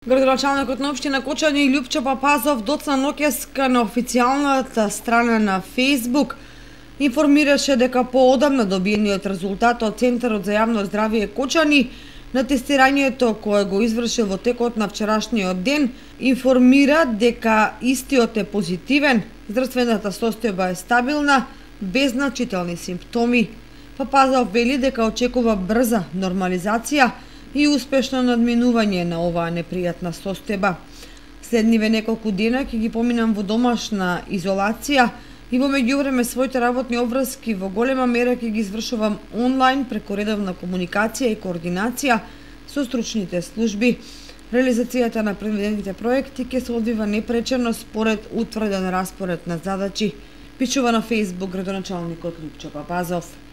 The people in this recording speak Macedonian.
Градоначалникот на општина Кочани Љупчо Папазов доцна ноќеска на официјалната страна на Facebook информираше дека поодамна добиениот резултат од Центарот за јавно здравје Кочани на тестирањето кое го извршил во текот на вчерашниот ден информира дека истиот е позитивен, здравствената состојба е стабилна, без значителни симптоми. Папазов вели дека очекува брза нормализација и успешно надминување на оваа непријатна состојба. Следниве неколку дена ќе ги поминам во домашна изолација и во меѓувреме своите работни обврски во голема мера ќе ги извршувам онлайн преку редовна комуникација и координација со стручните служби. Реализацијата на предвидените проекти ќе се одвива непречено според утврден распоред на задачи, пишува на Facebook градоначалникот Љупчо Папазов.